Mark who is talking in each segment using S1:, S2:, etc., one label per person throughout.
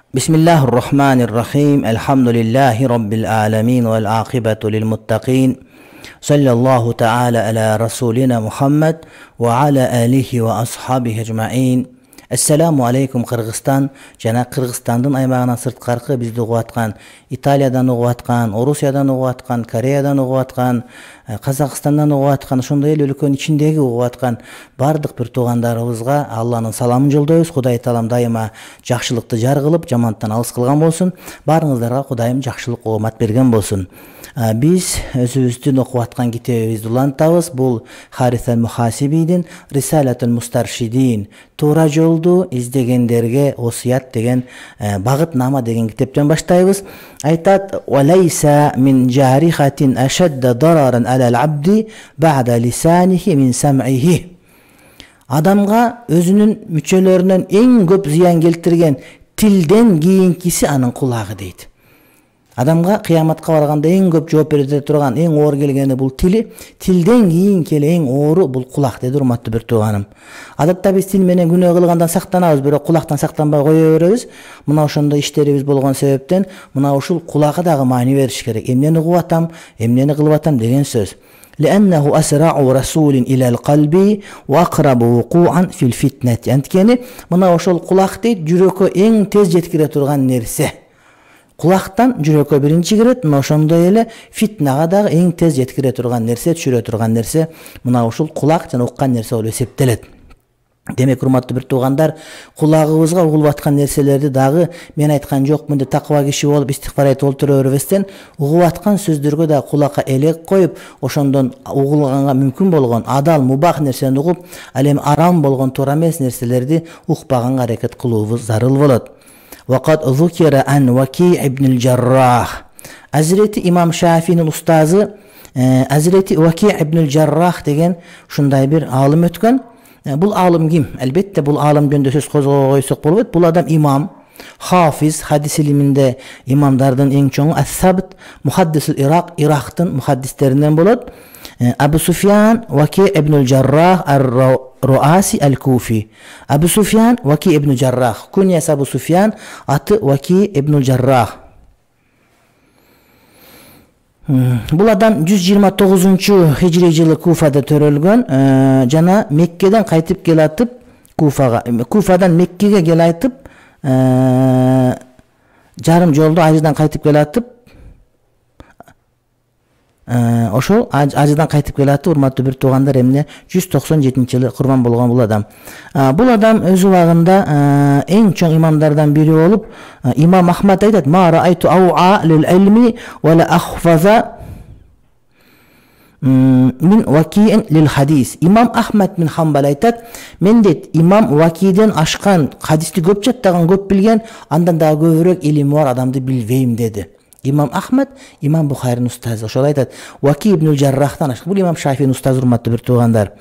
S1: Bismillahirrahmanirrahim. Elhamdülillahi Rabbil alamin vel aqibatu lil muttaqin. Sallallahu ta'ala ala rasulina Muhammed ve ala alihi ve ashabihi ecma'in. Assalamu alaikum Kırgızstan. Жана Кыргызстандын аймагынан сырткаркы бизди угуп аткан, Италиядан угуп аткан, Орусиядан угуп аткан, Кореядан угуп аткан, Казакстандан угуп аткан, ошондой эле өлкөнүн ичиндеги угуп аткан бардык бир туугандарыбызга Алланын саламын жолдойбуз. Кудай таалам дайыма жакшылыкты жар кылып, жамандыктан алыс кылган болсун. Баарыңыздарга Кудайым жакшылык оомат берген болсун. Биз өзүбүздүн окуп аткан китебибизди улантабыз. Бул Харис аль-Мухасибидин Рисалатул Мустаршидин, туура жолду издегендерге осуят деген багытнама деген китептен баштайбыз. Айтат: "Валайса мин жарихатин ашадда дараран алал абди бa'da лисанихи мин сам'ихи." Адамга өзүнүн мүчөлөрүнөн эң көп зыян келтирген тилден кийинкиси анын кулагы дейт. Адамга кыяматка барганда эң көп жооп бере турган, эң оор келгени бул тили, тилден кийин келе эң оору бул кулак деди, урматтуу бир тууганым. Адатта биз тил менен күнөө кылгандан сактанабыз, бирок кулактан сактанбай кое беребиз. Мына ошондой иштерибиз болгон себептен мына ушул кулакка дагы маани бериш керек. Эмнени угуп атам, эмнени кылып атам деген сөз. لأنه أسرع رسول إلى القلب وأقرب وقوعا في الفتنة. Анткени мына ошол кулак дейт, жүрөккө эң тез жеткире турган нерсе. Кулактан жүрөккө биринчи кирет, мына ошондой эле фитнага дагы эң тез жеткире турган нерсе, түшүрө турган нерсе мына ушул кулак жана уккан нерсе болуп эсептелет. Демек, урматтуу бир туугандар, кулагыбызга угулуп аткан нерселерди дагы мен айткан жокмун деп такыба киши болуп истигфар айтып олтура бербестен, угуп аткан сөздөргө да кулакка элек коюп, ошондон угулганга мүмкүн болгон адал, мубах нерсени угуп, ал эми арам болгон, туура эмес нерселерди укпаганга аракет кылуубуз зарыл болот. وقد ذكر عن وكيع بن الجراح. Hazreti İmam Şafii'nin ustazı Hazreti Vaki ibn el-Jarrah деген ушундай бир алым өткөн. Бул алым ким? Албетте бул алым жөнүндө сөз койсок болбойт. Бул адам имам, хафиз, хадис илиминде имамдардын эң чоңу, ас-Сабт, мухаддисул Ирак, Ирактын мухаддистеринен болот. Абу Суфьян Ваки ibn el-Jarrah ар-Руаси аль-Куфи. Абу Суфьян Ваки ibn el-Jarrah. Куньясы Абу Суфьян, аты Ваки ibn el-Jarrah. Бул адам 129-хижри жылы Куфада төрөлгөн, жана Меккеден кайтып келатып Куфага, Куфадан Меккеге келатып жарым жолдо ажыдан кайтып келатып, ошол ажыдан кайтып келатып, урматтуу бир туугандар, эмне 197-жылы курман болгон бул адам. Бул адам өз убагында эң чоң имамдардан бири болуп, имам Ахмад айтат: "Ма раайту ауа лил илми ва ла ахфаза мин вакиин лил хадис." Имам Ахмад бин Хамбал айтат: "Мен дейт, имам Вакиден ашкан, хадисти көп жаттаган, көп билген, андан дагы көбүрөөк илими бар адамды билбейм" деди. Имам Ахмад, имам Бухаринин устазы. Ошол айтат: "Ваки ibn el-Jarrah'тан ашкан." Бул имам Шафиинин устазы, урматтуу бир туугандар.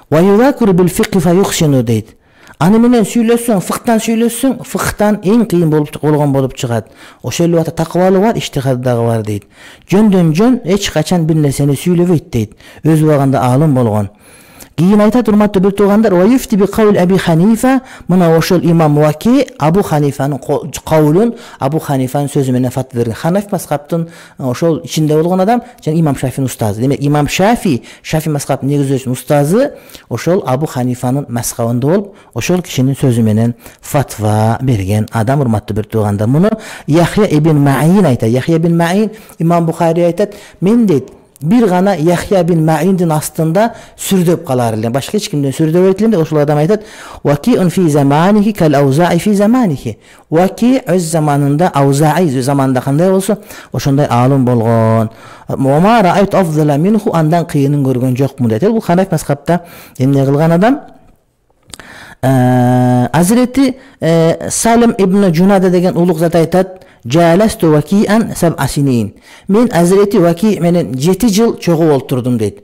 S1: "Ва юзакиру бил фикхи фа юхсину" дейт. Аны менен сүйлөссөң, фыктан сүйлөссөң, фыктан эң кыйын болуп чыгат. Ошол эле убакта такыбалы бар, иштихады дагы бар дейт. Жөндөн жөн эч качан бир нерсени сүйлөбөйт дейт. Өз убагында алым болгон. Кийин айтат, урматтуу бир туугандар: "Ва юфти би кавл Аби Ханифа." Мына ошол имам Ваки Абу Ханифанын кавлун, Абу Ханифанын сөзү менен фатва берген. Ханафи мазхабтын ошол ичинде болгон адам жана имам Шафиинин устазы. Демек, имам Шафи мазхабын негиздөөчүнүн устазы ошол Абу Ханифанын мазхабында болуп, ошол кишинин сөзү менен фатва берген адам, урматтуу бир туугандар. Муну Яхья ибн Маин айтат. Яхья ибн Маин, имам Бухари айтат: "Мен дейт, бир гана Яхья ибн Маиндин астында сүрдөп калар элем, башка эч кимден сүрдөбөйт элем" деп ошол адам айтат: "Вакиун фи заманихи кал аузаи фи заманихи." Ваки өз заманында, аузаи заманында кандай болсо, ошондой алым болгон. "Ва ма раайт афдала минху", андан кыйынын көргөн жокмун дейт. Бул Ханафи мазхабта эмне кылган адам? Hazreti Salim ibn Cunada деген улуг зат айтат: "Жаласту вакиан саб'a синин." Мен Hazreti Ваки менен 7 жыл чогуу олтурдум дейт.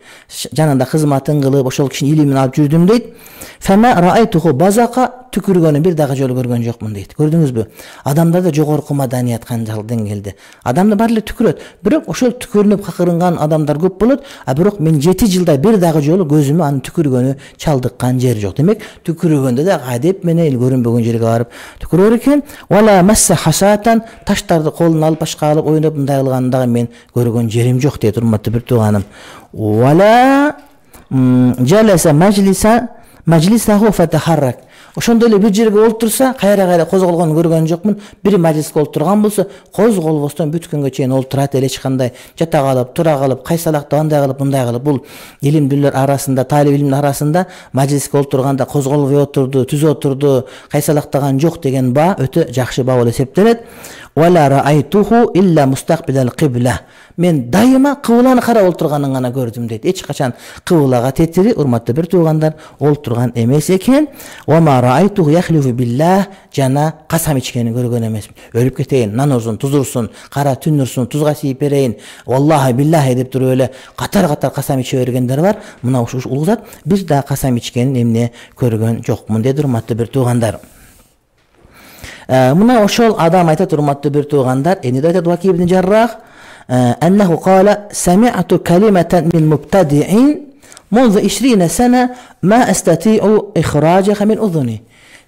S1: Жанында кызматын кылып, ошол кишинин илимин алып жүрдүм дейт. "Фама раайтуху базака түкүргөнү бир дагы жолу көргөн жокмун дейт. Көрдүңүзбү? Адамдарда жогорку маданият канчалык деңгээлде. Адамдар баары эле түкүрөт, бирок ошол түкүрүнүп какырынган адамдар көп болот, а бирок мен 7 жылда бир дагы жолу көзүмө анын түкүргөнү чалдыккан жер жок. Демек, түкүргөндө да адеп менен көрүнбөгөн жерге барып түкүрөр экен. Вала масса хасатан, таштарды колуна алып башка алып ойноп мындай кылганын дагы мен көргөн жерим жок дейт, урматтуу бир тууганым. Вала жаласа majlisahu fataharrak. Ошондой эле бир жерге олтурса, кайра козголгонун көргөн жокмун. Бир мажлиске олтурган болсо, козголбостон бүт күнгө чейин олтурат эле, эч кандай жата калып, тура калып, кайсалакта андай кылып, мындай кылып. Бул илимдүүлөр арасында, талип илимдин арасында мажлиске олтурганда козголбой отурду, түз отурду, кайсалактаган жок деген баа өтө жакшы баа болуп эсептелет. Wala ra'aytuhu illa mustaqbilal qibla. Мен дайыма кыбланы карап олтурганын гана көрдүм дейт. Эч качан кыблага тетири, урматтуу бир туугандар, олтурган эмес экен. Wa ma ra'aytuhu yakhlifu billah, жана касам ичкенин көргөн эмесмин. Өлүп кетейин, нанозун, тузурсун, кара түнүрсүн, тузга siiп берейин, валлахи биллахи деп туруп эле катар касам иче бергендер бар. Мына ушул улуу зат бир да касам ичкенин эмне көргөн жокмун деди, урматтуу бир туугандар. Мына ошол адам айтат, урматтуу бир туугандар, эне айтат Ваки ибн Жаррах, аннаху кала сами'ту калиматан мин мубтади'ин منذ 20 سنة ما أستطيع إخراجها من أذني.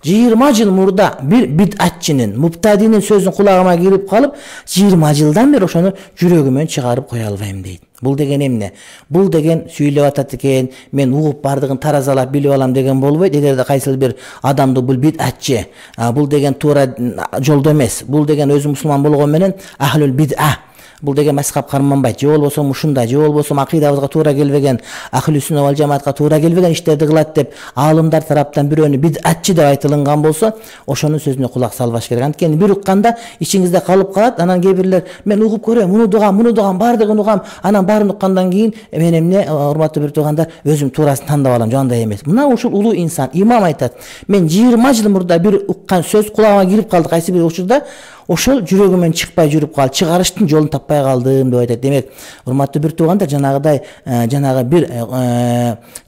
S1: 20 жыл мурда бир бидатчынын, мубтадинин сөзүн кулагыма кирип калып, 20 жылдан бери ошону жүрөгүмөн чыгарып кое албайм дейт. Бул деген эмне? Бул деген сүйлөп атат экен, мен угуп бардыгын таразалап билип алам деген болбойт. Эгерде кайсыл бир адамды бул бидатчы, бул деген туура жолдо эмес, бул деген өзү мусулман болгон менен ахлул бид'a, бул деген мазхаб карманбайт, же болбосо ушундай, же болбосо акыйдабызга туура келбеген, ахли сүннат вал жамаатка туура келбеген иштерди кылат деп аалымдар тараптан бирөөнү бидатчы деп айтылган болсо, ошонун сөзүнө кулак салбаш керек. Анткени бир укканда ичиңизде калып калат, анан кээ бирлер мен угуп көрөм, муну дугам, бардыгын угам, анан баарын уккандан кийин мен эмне, урматтуу бир туугандар, өзүм туурасын тандап алам, жандай эмес. Мына ушул улуу инсан, имам айтат, мен 20 жыл мурда бир уккан сөз кулагыма кирип калды, кайсы бир учурда ошол жүрөгүмөн чыкпай жүрүп калды, чыгарыштын жолун таппай калдым деп айтат. Демек, урматтуу бир туугандар, жанагы бир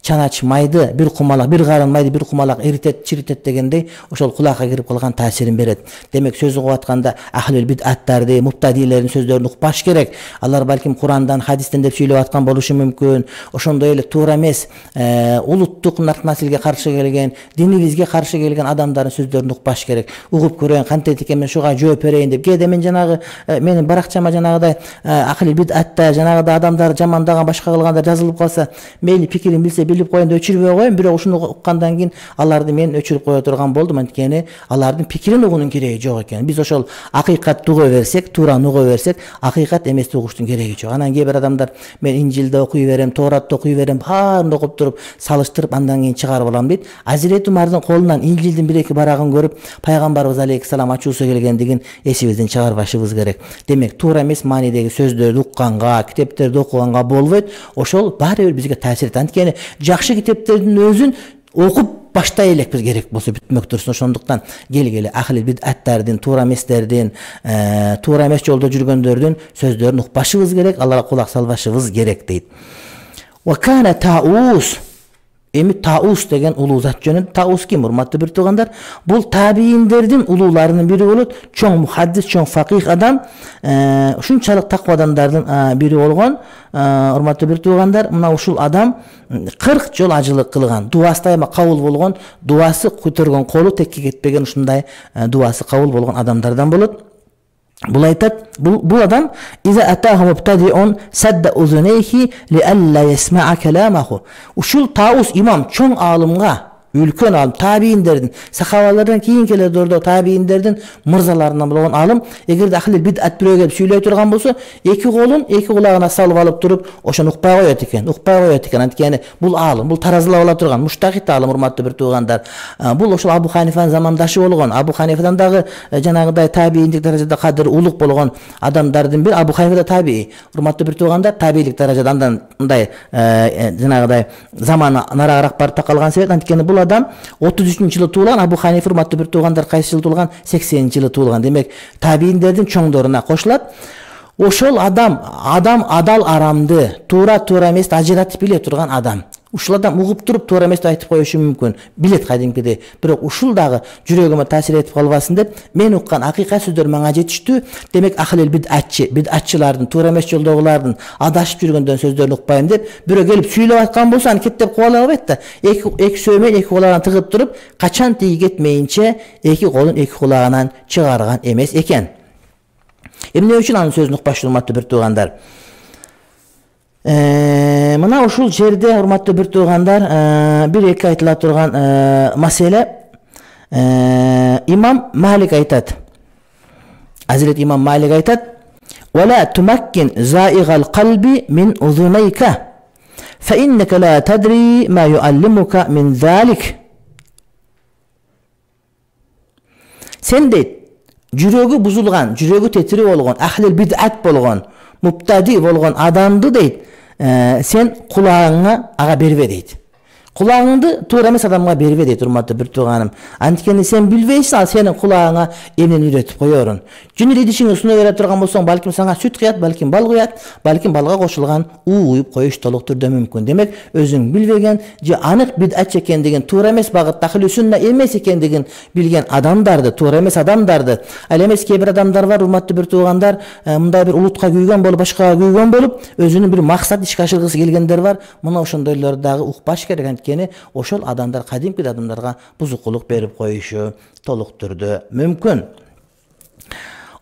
S1: чанач майды, бир кумалак, бир карын майды бир кумалак эритет, чиритет дегендей, ошол кулакка кирип калган таасирин берет. Демек, сөз угуп атканда ахлул бид'аттарды, муптадилердин сөздөрүн укпаш керек. Алар балким Курандан, хадистен деп сүйлөп аткан болушу мүмкүн. Ошондой эле туура эмес, улуттук насилге каршы келген, динибизге каршы келген адамдардын сөздөрүн укпаш керек. Угуп көрөйүн, кантет экен, мен шуга жооп берейин деп. Кээде мен жанагы менин баракчама жанагыдай акыл бид'атта жанагыдай адамдар жамандаган, башка кылгандар жазылып калса, мейли пикирин билсе билип коеюн деп өчүрбөй коеюн. Бирок ушуну уккандан кийин аларды мен өчүрүп кое турган болдум, анткени алардын пикирин угуунун кереги жок экен. Биз ошол акыйкатты уга берсек, туураны уга берсек, акыйкат эмести угуштун кереги жок. Анан кээ бир адамдар мен Инжилди окуй берем, Тооратты окуй берем, баарын окуп туруп, салыштырып андан кийин чыгарып алам дейт. Азирети Умардын колунан Инжилдин бир-эки барагын көрүп, пайгамбарыбыз алейхиссалам ачуусу келгендигин эсибизден чыгарбашыбыз керек. Демек, туура эмес маанидеги сөздөрдү укканга, китептерди окуганга болбойт. Ошол баары бир бизге таасир этет. Анткени жакшы китептердин өзүн окуп баштай элекпиз керек болсо бүтмөк турсун. Ошондуктан келгиле ахли бид'аттардын, туура эместердин, туура эмес жолдо жүргөндөрдүн сөздөрүн укпашыбыз керек, аларга кулак салбашыбыз керек дейт. Wa kana Таус. Эми Таус деген улуу зат жөнүндө. Таус ким, урматтуу бир туугандар? Бул табииндердин улууларынын бири болот. Чоң мухаддис, чоң факих адам, ушунчалык таква адамдардын бири болгон. Урматтуу бир туугандар, мына ушул адам 40 жол ажылык кылган, дуасы дайыма кабыл болгон, дуасы көтөргөн колу текке кетпеген, ушундай дуасы кабыл болгон адамдардан болот. Бул айтат, бул адам иза атаху мубтадиун садда узунайхи ли алла ясма'a каламаху. Ушул Таус имам чоң аалымга, үлкөн аалым, табииндердин, сахабалардан кийин келе дордо табииндердин мырзаларынан болгон аалым, эгерде ахли бид'ат бирөө келип сүйлөй турган болсо, эки колун эки кулагына салып алып туруп, ошону укпай коет экен. Анткени бул аалым, бул таразалап ала турган муштахит аалым, урматтуу бир туугандар. Бул ошол Абу Ханифанын замандашы болгон. Абу Ханифадан дагы жанагыдай табииндик даражада кадыр улук болгон адамдардын бир Абу Ханифа да табии. Урматтуу бир туугандар, табиилик даражада андан мындай жанагыдай заманы нарагыраак барып такалган себеп, анткени бул адам 33-жылы туулган. Абу Ханифа, урматтуу бир туугандар, кайсы жылы туулган? 80-жылы туулган. Демек, табииндердин чоңдоруна кошулат. Ошол адам адал арамды, туура эмести ажыратып биле турган адам. ушул адам угуп туруп туура эмес деп айтып коюшу мүмкүн, билет кадимкидей. Бирок ушул дагы жүрөгүмө таасир этип калбасын деп мен уккан акыйкат сөздөр мага жетиштүү. Демек ахлил бидатчылардын, туура эмес жолдогулардын адашып жүргөндөн сөздөрүн укпайм деп бирөө келип сүйлөп аткан болсо аны кеттеп кубала албайт да. Эки сөймөн эки кулагынан тыгып туруп, качан тиги кетмейинче эки колун эки кулагынан чыгарган эмес экен. Эмне үчүн анын сөзүн укпаштуу урматтуу бир туугандар? Мына ушул жерде урматтуу бир туугандар, бир эки айтыла турган маселе. Имам Малик айтат. Азирет имам Малик айтат: "Вала тумаккин заигал қалби мин узунайка, фа иннака ла тадри ма юаллимука мин залик." Сен дейт, жүрөгү бузулган, жүрөгү тетири болгон, ахлил бидат болгон, муптади болгон адамды дейт, сен кулагыңа ага бербе дейт. Кулагыңды туура эмес адамга бербе дейт, урматтуу бир тууганым. Анткени сен билбейсиң, ал сенин кулагыңа эмнени үйрөтүп коерун. Жөн эле идишиңди суна бере турган болсоң, балким сага сүт куят, балким бал куят, балким балга кошулган уу куюп коюш толук түрдө мүмкүн. Демек, өзүң билбеген же анык бидат экендигин, туура эмес багытта ахли сүнна эмес экендигин билген адамдарды, туура эмес адамдарды, ал эмес кээ бир адамдар бар, урматтуу бир туугандар, мындай бир улутка күйгөн болуп, башкага күйгөн болуп, өзүнүн бир максат ишке ашыргысы келгендер бар. Мына ошондойлорду дагы укпаш керек. Ошол адамдар кадимки адамдарга бузукулук берип коюшу толук түрдө мүмкүн.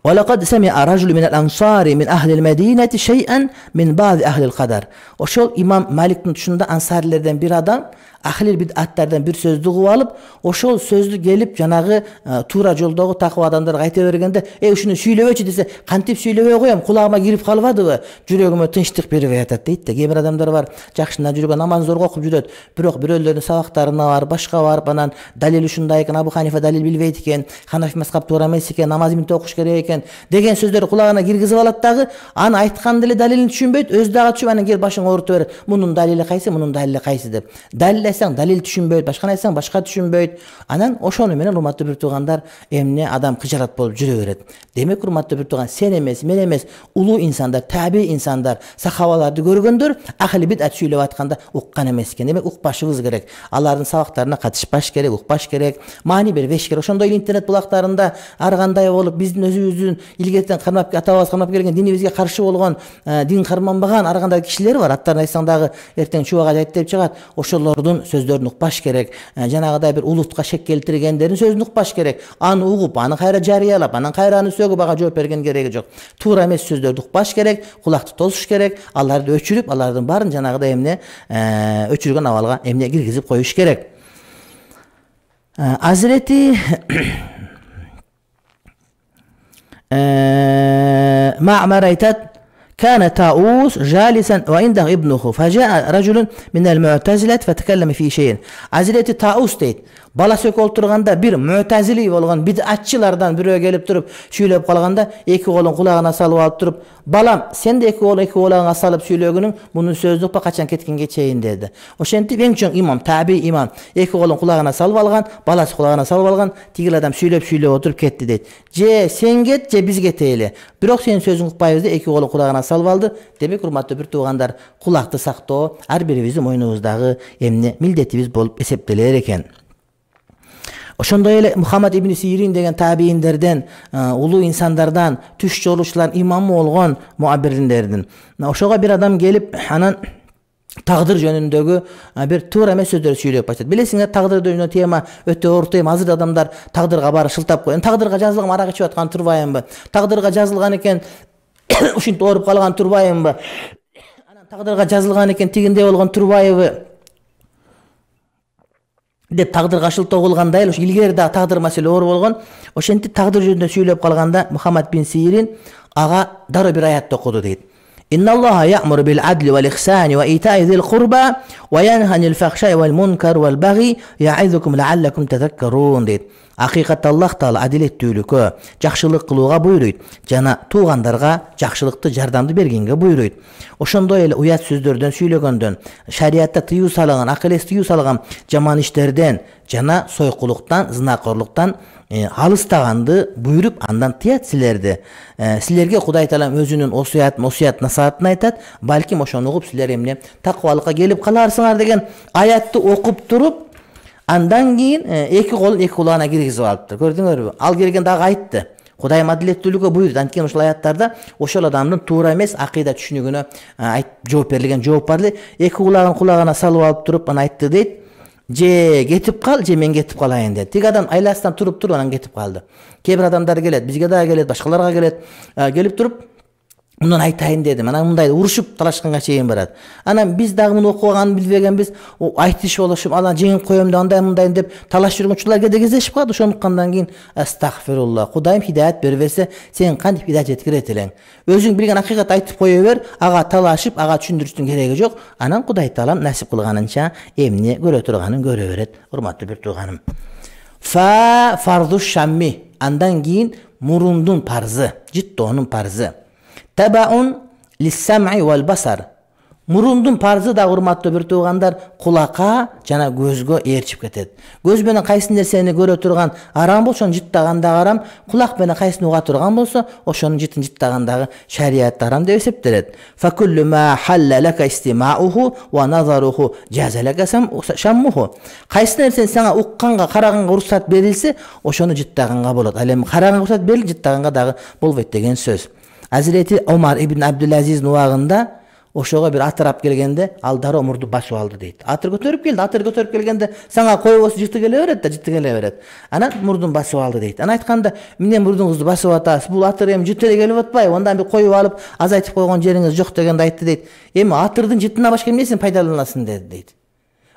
S1: وَلَقَدْ سَمِعَ رَجُلٌ مِنَ الْأَنصَارِ مِنْ أَهْلِ الْمَدِينَةِ شَيْئًا مِنْ بَعْضِ أَهْلِ الْقَدَرِ. Ошол имам Маликтин тушунда ансарлерден бир адам ахлил бидаттардан бир сөздү угуп алып, ошол сөздү келип жанагы туура жолдогу такыба адамдарга айта бергенде, ушуну сүйлөбөчү десе, кантип сүйлөбөй коем, кулагыма кирип калбадыбы, жүрөгүмө тынчтык бербей атат дейт да. Кээ бир адамдар бар, жакшына жүргөн, намазын зорго окуп жүрөт, бирок бирөөлөрдүн сабактарына барып, башка барып, анан далил ушундай экен, Абу Ханифа далил билбейт экен, Ханафи мазхаб туура эмес экен, намаз эмнете окуш керек экен деген сөздөрдү кулагына киргизип алат дагы, аны айткан деле далилин түшүнбөйт, өзү дагы түшүп, анан кел башың оорутуп берет. Мунун далили кайсы, мунун далили кайсы деп. Далилдесең далил түшүнбөйт, башканы айтсаң башка түшүнбөйт. Анан ошону менен урматтуу бир туугандар, эмне адам кыжалат болуп жүрө берет. Демек урматтуу бир тууган, сен эмес, мен эмес, улуу инсандар, таби инсандар, сахабаларды көргөндөр ахли бидат сүйлөп атканда уккан эмес экен. Демек укпашыбыз керек. Алардын сабактарына катышпаш керек, укпаш керек, маани бербеш керек. Ошондой эле интернет булактарында ар кандай болуп, биздин өзүбүздүн илгертен кармап, атабыз кармап келген динибизге каршы болгон, дин карманбаган ар кандай кишилер бар. Аттарын айтсаң дагы эртең чубага айтып деп чыгат. Ошолордун сөздөрүн укпаш керек. Жанагыдай бир улутка шек келтиргендердин сөзүн укпаш керек. Аны угуп, аны кайра жарыялап, анан кайра аны сөгүп ага жооп берген кереги жок. Туура эмес сөздөрдү укпаш керек, кулакты тосуш керек, аларды өчүрүп, алардын баарын жанагыдай эмне өчүргөн абалга эмне киргизип коюш керек. Азирети Маъмар айтат: كان طاووس جالسا وعنده ابنه فجاء رجل من المعتزلة فتكلم في شيء. Hazreti Taus deyt, balасы экөө отурганда бир муътазили болгон бидатчылардан бирөө келип туруп сүйлөп калганда, эки колун кулагына салып алып туруп, балам, сен де эки кулагыңа салып сүйлөгөнүң мунун сөзү укпа, качан кеткенге чейин деди. Ошентип эң чоң имам, таби имам, эки колун кулагына салып алган, баласы кулагына салып алган, тигил адам сүйлөп отуруп кетти дейт. Же сен кет, же биз кетели. Бирок сенин сөзүң укпайбыз деп эки колун кулагына салып алды. Демек урматтуу бир туугандар, кулакты сактоо ар бирибиздин мойнубуздагы эмне милдетибиз болуп эсептелер экен. Ошондой эле Мухаммад ибн Сирин деген табииндерден, улуу инсандардан, түш жолуучулардын имамы болгон муаббирлердин. Ошого бир адам келип, анан тагдыр жөнүндөгү бир туура эмес сөздөрдү сүйлөп баштады. Билесиңер, тагдыр жөнүндө тема өтө оор тема. Азыр адамдар тагдырга бары шылтап коюп, тагдырга жазылган арак ичип аткан турбайбы? Тагдырга жазылган экен, ушинтип ооруп калган турбайбы? Анан тагдырга жазылган экен, тигиндей болгон турбайбы? Деп тагдырга шылтоо кылгандай эле, илгери да тагдыр маселе оор болгон. Ошентип тагдыр жөнүндө сүйлөп калганда Мухаммад бин Сирин ага дароо бир аят окуду дейт. Инналлаха я'муру бил адли вал ихсани ва ита'i зил курба ва янха анил фахша'i вал мункар вал баги я'изукум ла'аллакум тазаккарун дейт. Акыйкатта Аллах Таала адилеттүүлүккө, жакшылык кылууга буйруйт, жана туугандарга жакшылыкты, жардамды бергенге буйруйт. Ошондой эле уят сөздөрдөн сүйлөгөндөн, шариатта тыюу салган, акыл эс тыюу салган жаман иштерден жана сойкулуктан, зынакорлуктан алыстаганды буйруп андан тыят силерди. Силерге Кудай Таалам өзүнүн осуят насаатын айтат. Балким ошону угуп силер эмне такыбалыкка келип каларсыңар деген аятты окуп туруп, андан кийин эки колун эки кулагына киргизип алыптыр. Көрдүңөрбү? Ал келген дагы айтты. Кудайым адилеттүүлүккө буйрут. Анткени ошол аяттарда ошол адамдын туура эмес акыйда түшүнүгүнө жооп берилген жооп бар эле. Эки кулагын кулагына салып алып туруп аны айтты дейт. Же кетип кал, же мен кетип калайын деди. Тиги адам айласынан туруп анан кетип калды. Кээ бир адамдар келет, бизге дагы келет, башкаларга келет. Келип туруп мындан айтайын дедим. Анан мындай урушуп талашканга чейин барат. Анан биз дагы муну окуганын билбегенбиз. Айтыш болушуп, анан жеңип коем деп андай мындай деп талашып жүргөн учурлар кездешип калат. Ошондуктан кийин астагфирулла. Кудайым хидаят бербесе, сен кантип хидаят жеткирет элең? Өзүң билген акыйкат айтып кое бер, ага талашып, ага түшүндүрүштүн кереги жок. Анан Кудай Таалам насип кылганынча эмне көрө турганын көрө берет. Урматтуу бир тууганым. Фарду шамми. Андан кийин мурундун парзы, жыттоонун парзы. Табаун лиссам'i вал басар. Мурундун парзы да урматтуу бир туугандар кулакка жана көзгө ээрчип кетет. Көз менен кайсы нерсени көрө турган арам болсо, ошону жыттаган да арам. Кулак менен кайсыны уга турган болсо, ошонун жытын жыттагандагы шарият арам деп эсептелет. Факуллу ма халла лака истимауху ва назаруху жазалака шаммуху. Кайсы нерсени сага укканга, караганга уруксат берилсе, ошону жыттаганга болот. Ал эми караганга уруксат берилип, жыттаганга дагы болбойт деген сөз. Азирети Омар ибн Абдулазиздин убагында ошого бир атырап келгенде, ал дароо мурду басып алды дейт. Атыр көтөрүп келди, атыр көтөрүп келгенде сага койбосо жыты келе берет да, жыты келе берет. Анан мурдун басып алды дейт. Анан айтканда, "Эмне мурдуңузду басып атасыз? Бул атыр эми жыты эле келип атпайбы? Ондан бир коюп алып, азайтып койгон жериңиз жок" дегенде айтты дейт. "Эми атырдын жытына башка эмнесин пайдаланасың" деди дейт.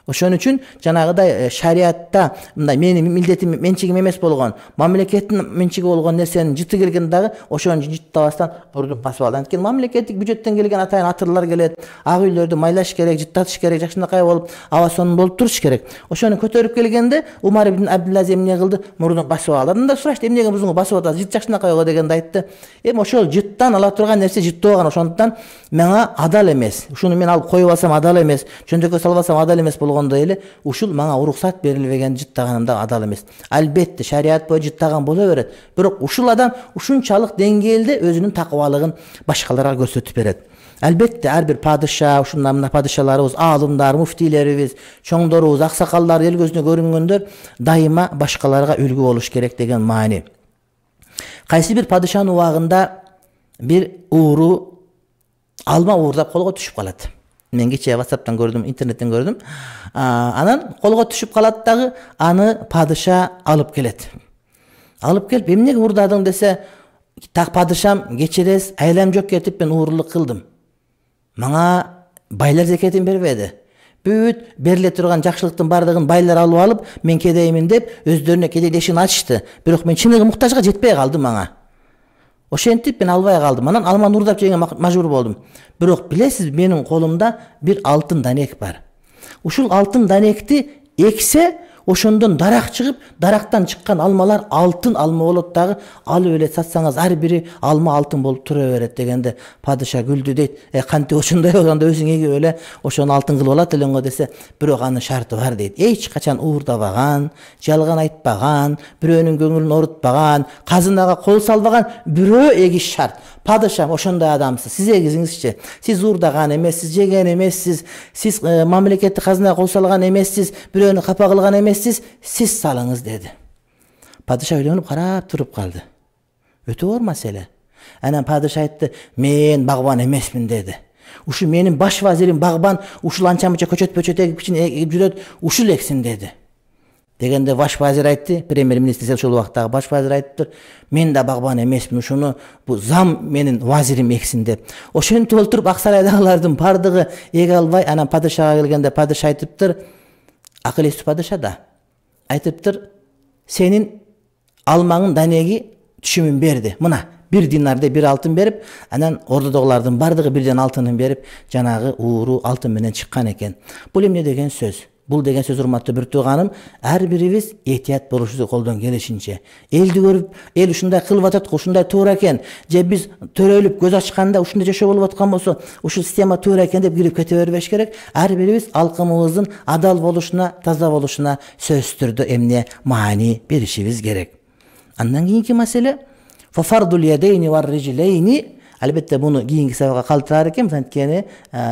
S1: Ошон үчүн жанагыдай шариатта мындай менин милдетим, менчигим эмес болгон, мамлекеттин менчиги болгон нерсенин жыты келген дагы ошону жыттабастан мурдун басып алды. Анткени мамлекеттик бюджеттен келген атайын атырлар келет, ак үйлөрдү майлаш керек, жыттатыш керек, жакшынакай болуп, аба сонун болуп туруш керек. Ошону көтөрүп келгенде Умар ибн Абдулазиз эмне кылды? Мурдун басып алды. Анда сурашты, "Эмнеге мурдуңду басып атасыз? Жыт жакшынакай го" дегенде айтты, "Эми ошол жыттан ала турган нерсе жыттооган, ошондуктан мага адал эмес. Ушуну мен алып коюп алсам адал эмес, чөндөккө салып алсам адал эмес болгондой эле, ушул мага уруксат берилбеген жыттаганымда адал эмес. Албетте шарият боюнча жыттаган боло берет. Бирок ушул адам ушунчалык деңгээлде өзүнүн такыбалыгын башкаларга көрсөтүп берет. Албетте ар бир падыша, ушундай мына падышаларыбыз, аалымдар, муфтийлерибиз, чоңдорубуз, аксакалдар, эл көзүнө көрүнгөндөр дайыма башкаларга үлгү болуш керек деген маани. Кайсы бир падышанын убагында бир ууру алма уурдап колго түшүп калат. Мен кечээ WhatsApp'тан көрдүм, интернеттен көрдүм. Анан колго түшүп калат дагы, аны падыша алып келет. Алып келип, "Эмнеге уурдадың" десе, "Так падышам, кечиресиз, айлам жок кетип мен уурулук кылдым. Мага байлар зекетин бербеди. Бүт бериле турган жакшылыктын бардыгын байлар алып алып, мен кедеймин" деп өздөрүнө кедейлешин ачышты. Бирок мен чыныгы муктажга жетпей калдым мага. Ошентип мен албай калдым. Анан алманы уурдап жегенге мажбур болдум. Бирок билесиз, менин колумда бир алтын данек бар. Ушул алтын данекти эксе, ошондон дарак чыгып, дарактан чыккан алмалар алтын алма болот дагы, алып эле сатсаңыз ар бири алма алтын болуп тура берет" дегенде падыша күлдү дейт. "Кантип ошондой болгондо өзүң эгип эле ошону алтын кылып алат элең го" десе, "Бирок анын шарты бар" дейт. "Эч качан уурдабаган, жалган айтпаган, бирөөнүн көңүлүн оорутпаган, казынага кол салбаган бирөө эгиш шарт. Падышам, ошондой адамсыз. Сиз эгизиңизчи. Сиз уурдаган эмессиз, жеген эмессиз, сиз мамлекеттик казынага кол салган эмессиз, бирөөнү капа кылган эмессиз, сиз салыңыз" деди. Падыша ойлонуп карап туруп калды. Өтө оор маселе. Анан падыша айтты, "Мен багбан эмесмин" деди. "Ушу менин баш вазирим багбан, ушул анча-мынча көчөт эгип жүрөт, ушул эксин" деди. Дегенде баш вазир айтты, премьер-министр ошол убактагы баш вазир айтыптыр, "Мен да багбан эмесмин, ушуну бу зам менин вазирим эксин" деп. Ошентип олтуруп ак сарайдагылардын бардыгы эге албай, анан падышага келгенде падыша айтыптыр, акыл эстүү падыша да. Айтыптыр, "Сенин алмаңын данеги түшүмүн берди. Мына 1 динардай 1 алтын берип, анан ордодогулардын бардыгы бирден алтынын берип, жанагы ууру алтын менен чыккан экен." Бул эмне деген сөз? Бул деген сөз, урматтуу бир тууганым, ар бирибиз этият болушубузду колдон келишинче. Элди көрүп, эл ушундай кылып атат, ушундай туура экен, же биз төрөлүп көз ачканда ушундай жашоо болуп аткан болсо, ушул система туура экен деп кирип кете бербеш керек. Ар бирибиз алкымыбыздын адал болушуна, таза болушуна сөзсүз түрдө эмне маани беришибиз керек. Андан кийинки маселе фафардул ядейни вар рижилейни. Албетте буну кийинки сабакка калтырар экенбиз, анткени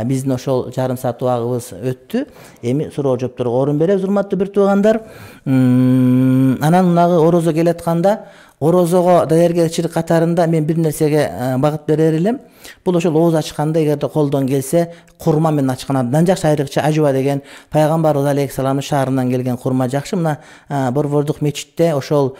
S1: биздин ошол жарым саат убагыбыз өттү. Эми суроо жоопторго орун беребиз, урматтуу бир туугандар. Анан мынагы орозо келатканда, орозого даяргерчилик катарында мен бир нерсеге багыт берер элем. Бул ошол ооз ачканда эгерде колдон келсе, курма менен ачкан абдан жакшы. Айрыкча ажва деген пайгамбарыбыз алейхисаламдын шаарынан келген курма жакшы. Мына Борбордук мечитте ошол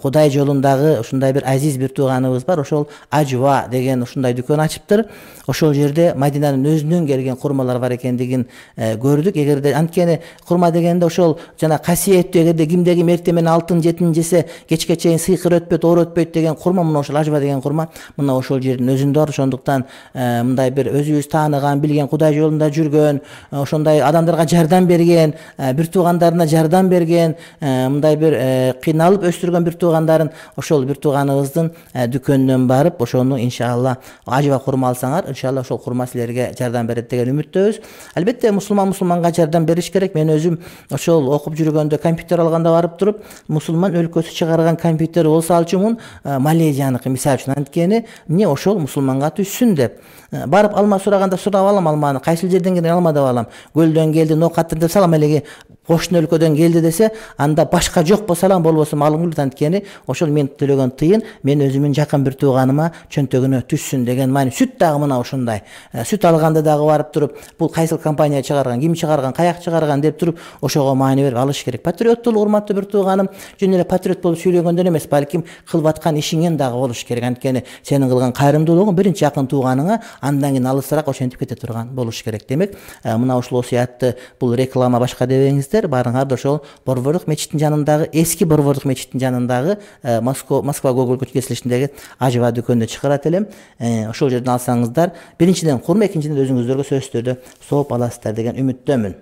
S1: Кудай жолундагы ушундай бир азиз бир тууганыбыз бар. Ошол ажва деген ушундай дүкөн ачыптыр. Ошол жерде Мадинанын өзүнөн келген курмалар бар экендигин көрдүк. Эгерде анткени курма дегенде ошол жана касиеттүү, эгерде кимде ким эртең менен алтын жетин жесе кечке чейин сыйкыр өтпөйт, оор өтпөйт деген курма, мына ошол ажва деген курма мына ошол жердин өзүндө бар. Ошондуктан мындай бир өзүбүз тааныган, билген, Кудай жолунда жүргөн, ошондой адамдарга жардам берген, бир туугандарына жардам берген, мындай бир кыйналып өстүргөн бир туугандарын ошол бир тууганыбыздын дүкөнүнөн барып, ошону иншалла ажва курма алсаңар, иншалла ошол курма силерге жардам берет деген үмүттөбүз. Албетте мусулманга жардам бериш керек. Мен өзүм ошол окуп жүргөндө компьютер алганда барып туруп, мусулман өлкөсү чыгарган компьютер болсо алчумун, Малезияныкы мисалы үчүн, анткени эмне ошол мусулманга түшсүн деп барып алма сураганда сурап алам, алманы кайсыл жерден келген алма деп алам. Көлдөн келди, нокаттыр деп салам, элеги кошуна өлкөдөн келди десе, анда башка жок болсо алам, болбосо малың келет. Анткени ошол мен төлөгөн тыйын мен өзүмүн жакын бир тууганыма чөнтөгүнө түшсүн деген маани. Сүт дагы мына ушундай. Сүт алганда дагы барып туруп, бул кайсыл компания чыгарган, ким чыгарган, каяк чыгарган деп туруп, ошого маани берип алыш керек. Патриоттулук, урматтуу бир тууганым, жөн эле патриот болуп сүйлөгөндөн эмес, балким кылып аткан ишиңен дагы болуш керек. Анткени сенин кылган кайрымдуулугуң биринчи жакын тууганыңа, андан кийин алысыраак ошентип кете турган болуш керек. Демек, мына ушул осуятты, бул реклама башка дебеңиздер, барыңар ошол Борбордук мечиттин жанындагы, эски Борбордук мечиттин жанындагы Москва Гоголь көчөсүндөгү ажва дүкөнүндө чыгарат элем. Ошол жерден алсаңыздар, биринчиден курма, экинчиден өзүңүздөргө сөзсүз түрдө сооп аласыздар деген үмүттөмүн.